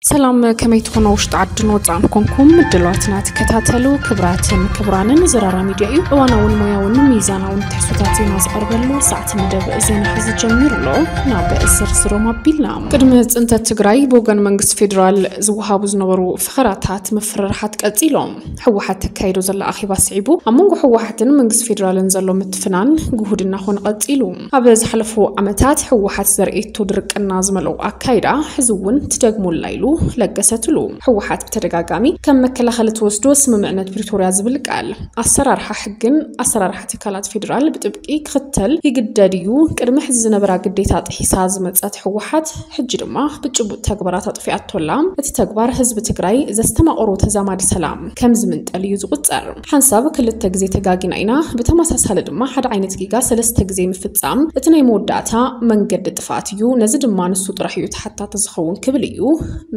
ሰላም፣ ከመይ ትኾኑ? ውሽጢ ዓድን ወፃእን ኮንኩም ምድላዋትና ትከታተሉ ክብራትን ክብራንን፣ ዘራራ ሚድያ እዩ። እዋናውን ሞያውን ሚዛናውን ትሕዝቶታት ዜና ዝቐርበሉ ሰዓት መደብ ዜና ሐዚ ጀሚሩ ኣሎ። ናብ ዝርዝሮም ኣቢልና። ቅድሚ ፅንተት ትግራይ ብወገን መንግስቲ ፌዴራል ዝወሃቡ ዝነበሩ ፈኸራታት ምፍርራሓት ቀፂሎም። ህወሓት ተካይዶ ዘላ ኣኼባ ስዒቡ፣ ኣብ መንጎ ህወሓትን መንግስቲ ፌዴራልን ዘሎ ምትፍናን ግሁድ እናኾነ ቀፂሉ። ኣብ ዝሓለፉ ዓመታት ህወሓት ዘርእየቶ ድርቅና ዝመልኦ ኣካይዳ ሕዚ እውን ትደግሙላ ኢሉ ለገሰ ቱሉ። ህወሓት ብተደጋጋሚ ከም መከላኸሊ ትወስዶ ስምምዕነት ፕሪቶርያ ዝብል ቃል፣ ኣሰራርሓ ሕግን ኣሰራርሓ ትካላት ፌዴራል ብጥብቂ ክኽተል ይግደድ እዩ። ቅድሚ ሕዚ ዝነበራ ግዴታ ጥሒሳ ዝመፀት ህወሓት ሕጂ ድማ ብጭቡጥ ተግባራት ኣጥፊኣቶላ። እቲ ተግባር ህዝቢ ትግራይ ዘስተማቐሮ ተዛማዲ ሰላም ከም ዝምንጠል እዩ ዝቑፀር። ሓንሳብ ክልተ ግዜ ተጋጊና ኢና፣ ብተመሳሳሊ ድማ ሓደ ዓይነት ጌጋ ሰለስተ ግዜ ምፍፃም እቲ ናይ መወዳእታ መንገዲ ጥፍኣት እዩ። ነዚ ድማ ንሱ ጥራሕ እዩ ተሓታቲ ዝኸውን ክብል እዩ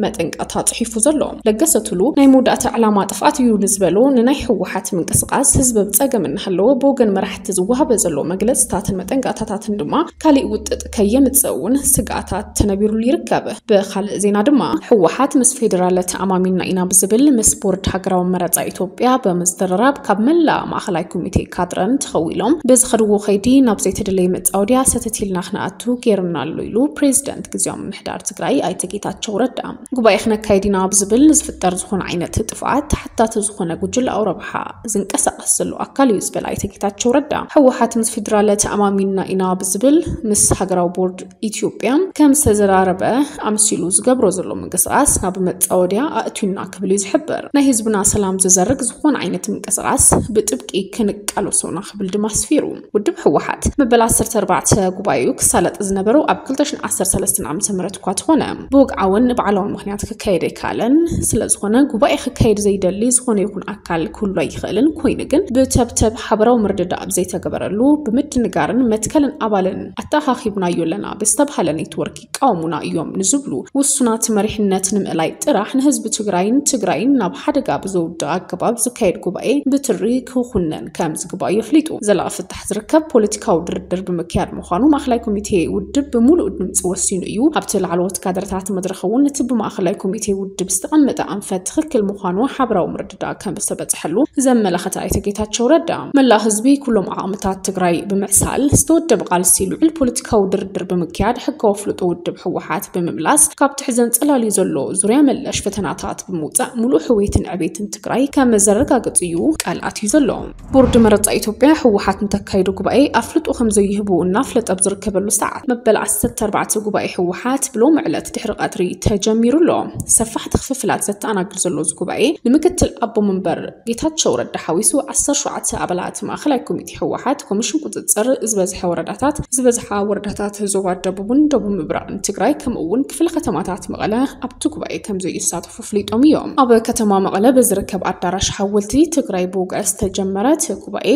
መጠንቀቕታ ፅሒፉ ዘሎ። ለገሰ ቱሉ ናይ መወዳእታ ዕላማ ጥፍኣት እዩ ንዝበሎ ንናይ ህወሓት ምንቅስቓስ ህዝቢ ብፀገም እናሃለወ ብወገን መራሕቲ ዝወሃበ ዘሎ መግለፅታትን መጠንቀቕታታትን ድማ ካሊእ ውጥጥ ከየምፅእ እውን ስግኣታት ተነቢሩሉ ይርከብ። ብኻልእ ዜና ድማ ህወሓት ምስ ፌዴራል ተኣማሚና ኢና ብዝብል ምስ ቦርድ ሃገራዊ መረፃ ኢትዮጵያ ብምዝርራብ ካብ መላእ ማእኸላይ ኮሚቴ ካድረን ተኸዊሎም ብዝኸድዎ ከይዲ ናብ ዘይተደለየ መፃወድያ ሰተት ኢልና ክነኣቱ ገይሩና ኣሎ ኢሉ ፕሬዚደንት ግዝያዊ ምምሕዳር ትግራይ ኣይተ ጌታቸው ረዳ። ጉባኤ ክነካይድ ኢና ብዝብል ንዝፍጠር ዝኾነ ዓይነት ጥፍኣት ተሓታቲ ዝኾነ ጉጅለኣዊ ረብሓ ዝንቀሳቐስ ዘሎ ኣካል እዩ ዝበለ ኣይተ ጌታቸው ረዳ፣ ህወሓት ምስ ፌዴራል ተኣማሚንና ኢና ብዝብል ምስ ሃገራዊ ቦርድ ኢትዮጵያ ከም ዝተዘራረበ ኣምሲሉ ዝገብሮ ዘሎ ምንቅስቓስ ናብ መፃወድያ ኣእትዩና ክብል እዩ ዝሕብር። ናይ ህዝብና ሰላም ዝዘርግ ዝኾነ ዓይነት ምንቅስቓስ ብጥብቂ ክንቃለሶ ኢና ክብል ድማ ኣስፊሩ። ውድብ ህወሓት መበል ዓሰርተ ኣርባዕተ ጉባኤኡ ክሳለጥ ዝነበሮ ኣብ ክልተ ሽሕን ዓሰርተ ሰለስተን ዓመተ ምህረት እኳ ተኾነ፣ ብወግዓውን ባዕላውን ምኽንያት ክካየድ ኣይከኣለን። ስለ ዝኾነ ጉባኤ ክካየድ ዘይደሊ ዝኾነ ይኹን ኣካል ክህሉ ኣይኽእልን። ኮይኑ ግን ብተብተብ ሓበራዊ ምርድዳእ ኣብ ዘይተገበረሉ ብምድንጋርን መትከልን ኣባልን ኣተኣኻኺብናዮ ኣለና ብዝተብሃለ ኔትወርክ ይቃወሙና እዮም ንዝብሉ ውሱናት መሪሕነት ንምእላይ ጥራሕ ንህዝቢ ትግራይን ትግራይን ናብ ሓደጋ ብዘውድቕ ኣገባብ ዝካየድ ጉባኤ ብትሪ ክኹነን ከም ዝግባእ የፍሊጡ። ዘላቒ ፍታሕ ዝርከብ ፖለቲካዊ ድርድር ብምክያድ ምዃኑ ማእኸላይ ኮሚቴ ውድብ ብምሉእ ድምፂ ወሲኑ እዩ። ኣብቲ ላዕለዎት ካድረታት መድረኽ እውን እቲ ብማእኸላይ ኮሚቴ ውድብ ዝተቐመጠ ኣንፈት ትኽክል ምዃኑ ሓበራዊ ምርድዳእ ከም ዝተበፅሐሉ ዘመላኸተ ኣይተ ጌታቸው ረዳ፣ መላእ ህዝቢ ኩሎም ዓቕምታት ትግራይ ብምዕሳል ዝተወደበ ቃልሲ ልዑል ፖለቲካዊ ድርድር ብምክያድ ሕጋዊ ኣፍልጦ ውድብ ህወሓት ብምምላስ ካብቲ ሕዘን ፀላልዩ ዘሎ ዙርያ መለሽ ፈተናታት ብምውፃእ ሙሉእ ሕውየትን ዕቤትን ትግራይ ከም ዘረጋግፅ እዩ ቃል ኣትዩ ዘሎ። ቦርድ መረፃ ኢትዮጵያ ህወሓት ንተካይዶ ጉባኤ ኣፍልጦ ከም ዘይህቡ እናፍለጠ ኣብ ዝርከበሉ ሰዓት መበል ዓሰርተ ኣርባዕተ ጉባኤ ህወሓት ብሎም ዕለት ድሕሪ ቀትሪ ተጀሚሩ ኣሎ። ሰፋሕቲ ክፍፍላት ዘተኣናግድ ዘሎ እዚ ጉባኤ ንምክትል ኣቦ መንበር ጌታቸው ረዳ ሓዊሱ ዓሰርተ ሸውዓተ ኣባላት ማእኸላይ ኮሚቴ ህወሓት፣ ኮሚሽን ቁፅፅር ዝበዝሐ ወረዳታት፣ ዝበዝሓ ወረዳታት ዞባ ደቡብን ደቡብ ምብራቕን ትግራይ ከምኡ እውን ክፍለ ከተማታት መቐለ ኣብቲ ጉባኤ ከም ዘይሳተፉ ኣፍሊጦም እዮም። ኣብ ከተማ መቐለ ብዝርከብ ኣዳራሽ ሓወልቲ ትግራይ ብውግዕ ዝተጀመረ እቲ ጉባኤ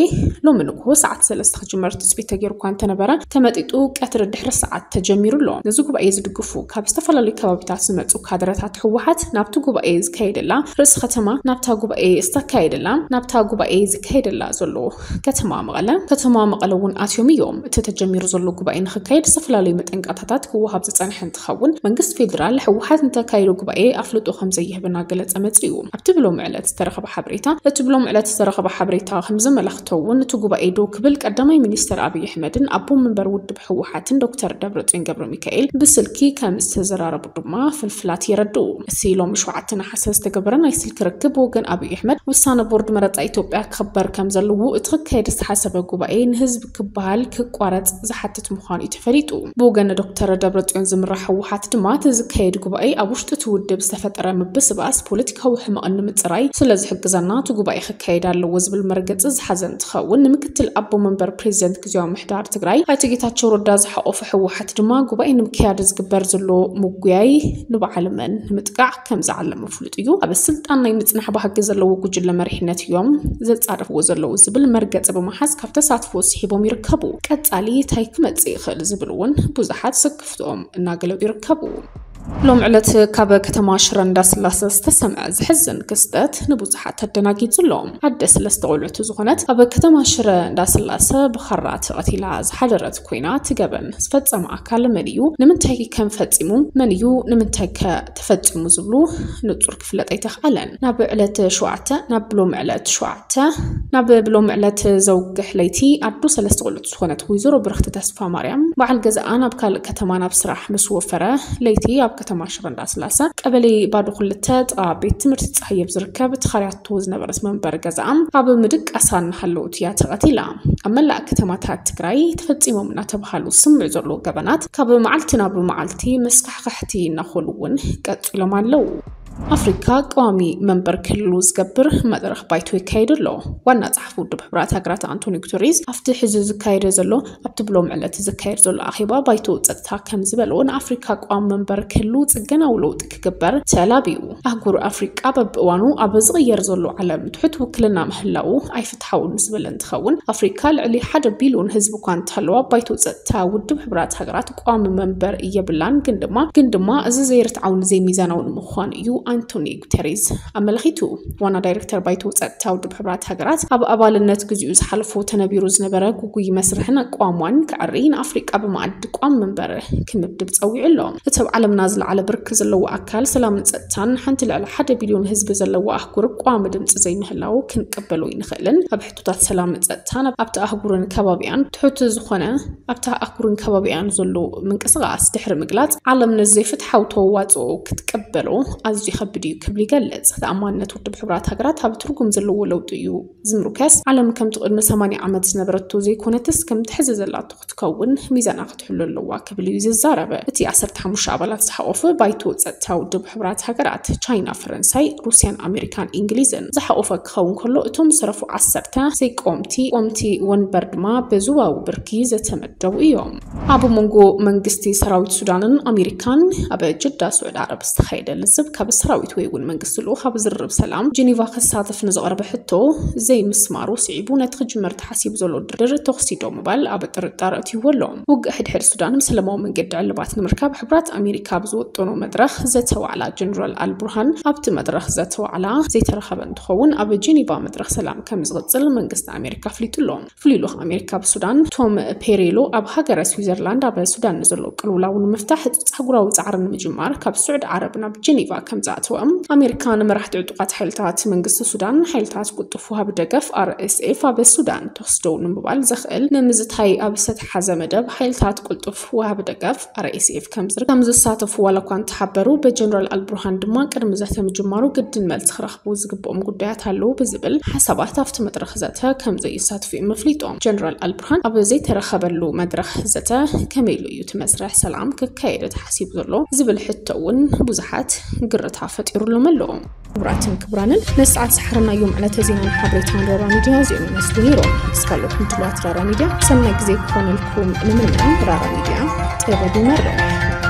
ሎሚ ንግሆ ሰዓት ሰለስተ ክጅመር ትፅቢት ተገይሩ እኳ እንተነበረ፣ ተመጢጡ ቀትሪ ድሕሪ ሰዓት ተጀሚሩ ኣሎ። ነዚ ጉባኤ ዝድግፉ ካብ ዝተፈላለዩ ከባቢታት ዝመፁ ካድረታት ህወሓት ናብቲ ጉባኤ ዝካየደላ ርእሲ ከተማ፣ ናብታ ጉባኤ ዝተካየደላ፣ ናብታ ጉባኤ ዝካየደላ ዘሎ ከተማ መቐለ፣ ከተማ መቐለ እውን ኣትዮም እዮም። እቲ ተጀሚሩ ዘሎ ጉባኤ ንክካየድ ዝተፈላለዩ መጠንቀቕታታት ክወሃብ ዝፀንሐ እንትኸውን፣ መንግስቲ ፌዴራል ህወሓት ንተካይዶ ጉባኤ ኣፍልጦ ከም ዘይህብ እናገለፀ መፂኡ። ኣብቲ ብሎም ዕለት ዝተረኸበ ሓበሬታ፣ እቲ ብሎም ዕለት ዝተረኸበ ሓበሬታ ከም ዘመላኽቶ እውን፣ እቲ ጉባኤ ደው ክብል ቀዳማይ ሚኒስትር ኣብይ ኣሕመድን ኣቦ መንበር ውድብ ህወሓትን ዶክተር ደብረፅዮን ገብረ ሚካኤል ብስልኪ ከም ዝተዘራረቡ ድማ ፍልፍላት የረድኡ። እቲ ሎሚ ሸውዓተ ነሓሰ ዝተገበረ ናይ ስልኪ ርክብ፣ ወገን ኣብይ ኣሕመድ ውሳነ ቦርድ መረፃ ኢትዮጵያ ክኽበር ከም ዘለዎ፣ እቲ ክካየድ ዝተሓሰበ ጉባኤ ንህዝቢ ክበሃል ክቋረፅ ዝሓትት ምዃኑ እዩ ተፈሊጡ። ብወገን ዶክተር ደብረፅዮን ዝምራሕ ህወሓት ድማ፣ እቲ ዝካየድ ጉባኤ ኣብ ውሽጢ እቲ ውድብ ዝተፈጠረ ምብስባስ ፖለቲካዊ ሕመቕ ንምፅራይ ስለ ዝሕግዘና፣ እቲ ጉባኤ ክካየድ ኣለዎ ዝብል መርገፂ ዝሓዘ እንትኸውን፣ ንምክትል ኣቦ መንበር ፕሬዚደንት ግዝያዊ ምምሕዳር ትግራይ ኣይተ ጌታቸው ረዳ ዝሓቆፈ ህወሓት ድማ፣ ጉባኤ ንምክያድ ዝግበር ዘሎ ምጉያይ ንበዓል መን ንምጥቃዕ ከም ዝዓለመ ፍሉጥ እዩ። ኣብ ስልጣን ናይ ምጽናሕ ባህጊ ዘለዎ ጉጅለ መሪሕነት እዮም ዘጻርፍዎ ዘለዉ ዝብል መርገጺ ብምሓዝ፣ ካብ ተሳትፎ ስሒቦም ይርከቡ። ቀጻሊ እንታይ ክመጽእ ይኽእል ዝብል እውን ብዙሓት ስክፍትኦም እናገለጹ ይርከቡ። ሎም ዕለት ካብ ከተማ ሽረ እንዳስላሰ ዝተሰምዐ ዘሕዝን ክስተት ንብዙሓት ኣደናጊጹ ኣሎ። ኣደ ሰለስተ ቆልዑት ዝኾነት ኣብ ከተማ ሽረ እንዳስላሰ ብኻራ ተቐቲላ ዝሓደረት ኮይና፣ እቲ ገበን ዝፈጸመ ኣካል መን እዩ፣ ንምንታይ ከም ፈጺሙ፣ መን እዩ፣ ንምንታይ ከ ተፈጺሙ ዝብሉ ንጹር ክፍለጥ ኣይተኽኣለን። ናብ ዕለት ሸውዓተ፣ ናብ ብሎም ዕለት ሸውዓተ፣ ናብ ብሎም ዕለት ዘውግሕ ለይቲ ኣዶ ሰለስተ ቆልዑት ዝኾነት ወይዘሮ ብርኽቲ ተስፋ ማርያም በዓል ገዛኣ ናብ ካልእ ከተማ ናብ ስራሕ ምስ ወፈረ፣ ለይቲ ኣብ ከተማ ሽረ እንዳስላሰ ቀበሌ ባዶ ክልተ ጥቓ ቤት ትምህርቲ ፀሃየ ኣብ ዝርከብ ተኻርያቶ ዝነበረት መንበሪ ገዛኣ ኣብ ምድቃሳ እናሃለወት እያ ተቐቲላ። ኣብ መላእ ከተማታት ትግራይ ተፈጺሞም እናተባሃሉ ዝስምዑ ዘለዉ ገበናት ካብ መዓልቲ ናብ መዓልቲ መስካሕካሕቲ እናኾኑ እውን ቀጺሎም ኣለዉ። ኣፍሪካ ቀዋሚ መንበር ክልሉ ዝገብር መድረኽ ባይቶ ይካየድ ኣሎ። ዋና ጸሓፊ ውድብ ሕቡራት ሃገራት ኣንቶኒ ጉተሬዝ ኣብቲ ሕዚ ዝካየደ ዘሎ ኣብቲ ብሎም ዕለት ዝካየድ ዘሎ ኣኼባ ባይቶ ጸጥታ ከም ዝበሎ፣ ንኣፍሪካ ቀዋሚ መንበር ክህሉ ጽገናዊ ለውጢ ክግበር ተላብዩ። ኣህጉር ኣፍሪቃ በብእዋኑ ኣብ ዝቕየር ዘሎ ዓለም ትሑት ውክልና ምህላው ኣይፍትሓውን ዝበለ እንትኸውን፣ ኣፍሪካ ልዕሊ ሓደ ቢልዮን ህዝቢ እኳ እንተሃለዋ፣ ባይቶ ጸጥታ ውድብ ሕቡራት ሃገራት ቀዋሚ መንበር የብላን። ግን ድማ ግን ድማ እዚ ዘይርትዓውን ዘይሚዛናውን ምዃኑ እዩ ኣንቶኒ ጉተሬዝ ኣመልኺቱ። ዋና ዳይሬክተር ባይቶ ጸጥታ ውድብ ሕቡራት ሃገራት ኣብ ኣባልነት ግዚኡ ዝሓለፎ ተነቢሩ ዝነበረ ጉጉይ መስርሕን ኣቋሟን ክዕሪ፣ ንኣፍሪቃ ብመኣዲ ቋሚ መንበር ክምድብ ጸዊዑ ኣሎ። እቲ ኣብ ዓለምና ዝለዓለ ብርኪ ዘለዎ ኣካል ሰላምን ጸጥታን፣ ሓንቲ ልዕሊ ሓደ ቢልዮን ህዝቢ ዘለዋ ኣህጉር ቋሚ ድምጺ ዘይምህላው ክንቅበሎ ኣይንኽእልን። ኣብ ሕቶታት ሰላምን ጸጥታን ኣብቲ ኣህጉርን ከባቢኣን ትሑት ዝኾነ ኣብታ ኣህጉርን ከባቢኣን ዘሎ ምንቅስቓስ ድሕሪ ምግላጽ፣ ዓለም ነዚ ዘይፍትሓዊ ተዋጽኦ ክትቅበሎ ኣዝዩ ከቢድ እዩ ክብል ይገልጽ። ተኣማንነት ውድብ ሕቡራት ሃገራት ኣብ ትርጉም ዘለዎ ለውጢ እዩ ዝምርኮስ። ዓለም ከምቲ ቅድሚ ሰማንያ ዓመት ዝነበረቶ ዘይኮነትስ፣ ከምቲ ሕዚ ዘላቶ ክትከውን ሚዛና ክትሕሉ ኣለዋ ክብል እዩ ዝዛረብ። እቲ ዓሰርተ ሓሙሽተ ኣባላት ዝሓቆፈ ባይቶ ጸጥታ ውድብ ሕቡራት ሃገራት፣ ቻይና፣ ፈረንሳይ፣ ሩስያን ኣሜሪካን እንግሊዝን ዝሓቆፈ ክኸውን ከሎ፣ እቶም ዝተረፉ ዓሰርተ ዘይቆምቲ ቆምቲ ወንበር ድማ ብዞባዊ ብርኪ ዝተመደቡ እዮም። ኣብ መንጎ መንግስቲ ሰራዊት ሱዳንን ኣሜሪካን ኣብ ጅዳ ስዑዲ ዓረብ ዝተኻየደ ልዝብ፣ ካብ ሰራዊት ወይ እውን መንግስቲ ልኡኽ ኣብ ዝርርብ ሰላም ጀኔቫ ክሳተፍ ንዝቐረበ ሕቶ ዘይምስማሩ ስዒቡ፣ ነቲ ክጅመር ተሓሲቡ ዘሎ ድርድር ተኹሲ ደው ምባል ኣብ ጥርጣረ ኣእትይዎ ኣሎ። ውግእ ሕድሕድ ሱዳን ብሰላማዊ መንገዲ ዕልባት ንምርካብ ሕቡራት ኣሜሪካ ኣብ ዝወጠኖ መድረኽ ዘተ ዋዕላ፣ ጀነራል ኣልቡርሃን ኣብቲ መድረኽ ዘተ ዋዕላ ዘይተረኸበ እንትኸውን፣ ኣብ ጀኔቫ መድረኽ ሰላም ከም ዝቕጽል መንግስቲ ኣሜሪካ ኣፍሊጡ ኣሎ። ፍሉይ ልኡኽ ኣሜሪካ ኣብ ሱዳን ቶም ፔሬሎ፣ ኣብ ሃገረ ስዊዘርላንድ ኣብ ሱዳን ንዘሎ ቅልውላው ንምፍታሕ ኣህጉራዊ ጻዕሪ ንምጅማር ካብ ስዑዲ ዓረብ ናብ ጀኔቫ ከም ዝኣተወ፣ ኣሜሪካ ንመራሕቲ ዕጡቓት ሓይልታት መንግስቲ ሱዳን ሓይልታት ቅልጡፍ ወሃቢ ደገፍ፣ ኣር ኤስ ኤፍ፣ ኣብ ሱዳን ተኹሲ ደው ንምባል ዘኽእል ንምዝታይ ኣብ ዝተተሓዘ መደብ ሓይልታት ቅልጡፍ ወሃቢ ደገፍ፣ ኣር ኤስ ኤፍ፣ ከም ዝር-፣ ከም ዝሳተፉ ዋላ እኳ እንተሓበሩ፣ ብጀነራል ኣልቡርሃን ድማ ቅድሚ ዘተ ምጅማሩ ግድን መልሲ ክረኽቡ ዝግብኦም ጉዳያት ኣለዉ ብዝብል ሓሳባት ኣብቲ መድረኽ ዘተ ከም ዘይሳተፉ እዮም ኣፍሊጦም። ጀነራል ኣልቡርሃን ኣብ ዘይተረኸበሉ መድረኽ ዘተ ከመይ ኢሉ እዩ እቲ መስርሕ ሰላም ክካየድ ተሓሲቡ ዘሎ ዝብል ሕቶ እውን ብዙሓት ግርታ ፈጢሩሎም ኣሎ። ክቡራትን ክቡራንን፣ ነዚ ሰዓት ዝሓረናዮም ዕለተ ዜናን ሓበሬታን ራራ ሚድያ እዚኦም ይመስሉ ነይሮም። ምስ ካልኦት ምድላዋት ራራ ሚድያ ሰናይ ግዜ ክኾነልኩም ንምነ። ራራ ሚድያ፣ ጥበብ ይመርሕ።